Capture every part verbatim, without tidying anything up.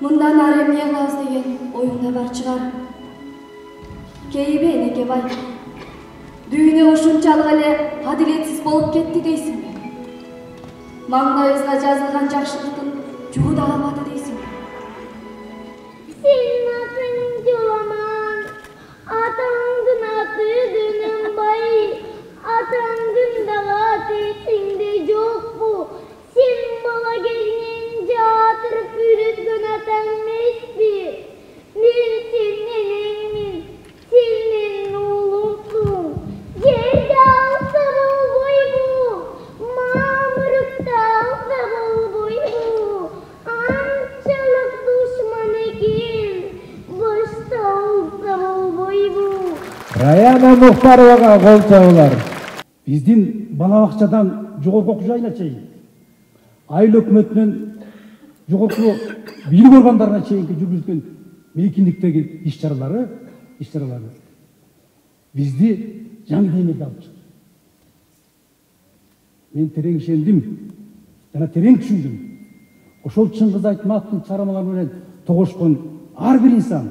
Мындан ары эмне кылабыз деген оюңда бар чыгар. Кейби Энекебай, дүйнө ушунчалык эле адилетсиз болуп кетти дейсиңби? Маңдайыбызга жазылган жакшылыктын жугу да калбады дейсиңби? Сенин атың Жоламан, атаңдын аты Дөнөнбай, атаңдын дагы аты эсиңде жокпу? Сен бала кезинен жаатырып үйрөткөн атаң эмеспи? Мен сенин энеңмин, сен менин уулумсуң. Жерди алса болбойбу, мамырыкты алса болбойбу. Анчалык душман экен, башта алса болбойбу. Раяна Мухтаровага кол чабуулар. Биздин бала бакчадан жогорку окуу жайына чейин айыл өкмөтүнүн жогорку бийлик органдарына чейинки жүргүзүлгөн мейкиндиктеги иш-чаралары, иш-чаралары бизди жаңы деңгээлге алып чыкты. Мен терең ишендим жана терең түшүндүм. Ошол Чыңгыз Айтматовдун чыгармалары менен тогошкон ар бир инсан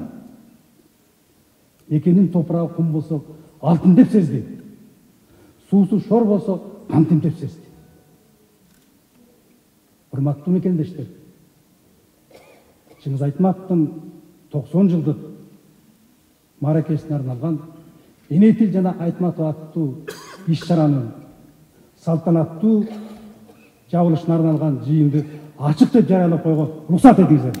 мекенин топурагы кум болсо алтын деп сезди. Суусу шор болсо кантим деп сезди. Урматтуу мекендештер, Чыңгыз Айтматовдун токсон жылдык мааракесине арналган Эне тил жана Айтматов аттуу иш-чаранын салтанаттуу жабылышына арналган жыйынды ачык деп жарыялап койгонго уруксат этиңиздер.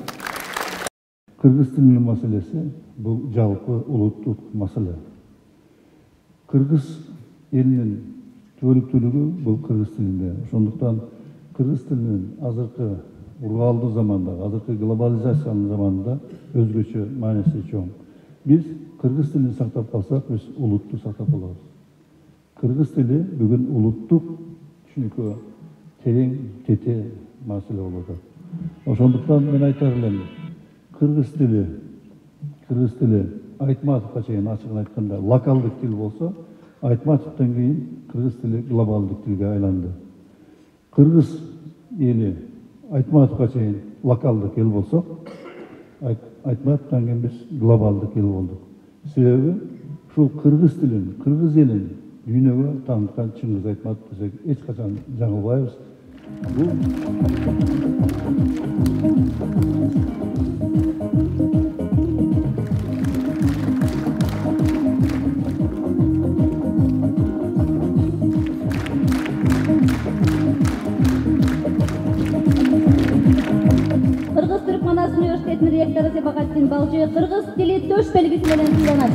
Кыргыз тилинин маселеси бул жалпы улуттук маселе. Кыргыз элинин түбөлүктүүлүгү бул кыргыз тилинде. Ошондуктан кыргыз тилинин азыркы ургаалдуу заманда, азыркы глобализациянын заманында өзгөчө мааниси чоң. Биз кыргыз тилин сактап калсак, биз улутту сактап калабыз. Кыргыз тили бүгүн улуттук түшүнүккө терең тете маселе болуп атат. Ошондуктан мен айтар элем, кыргыз тили, кыргыз тили Айтматовго чейин ачыгын айтканда локалдык тил болсо, Айтматовдон кийин кыргыз тили глобалдык тилге айланды. Кыргыз эли Айтматовго чейин локалдык эл болсо, Айтматовдон кийин биз глобалдык эл болдук. Себеби ушул кыргыз тилин, кыргыз элин дүйнөгө тааныткан Чыңгыз Айтматов десек эч качан жаңылбайбыз. Кыргыз Түркманас университетинин ректору Себагатдин Балжы кыргыз тили төш белгиси менен сыйланат.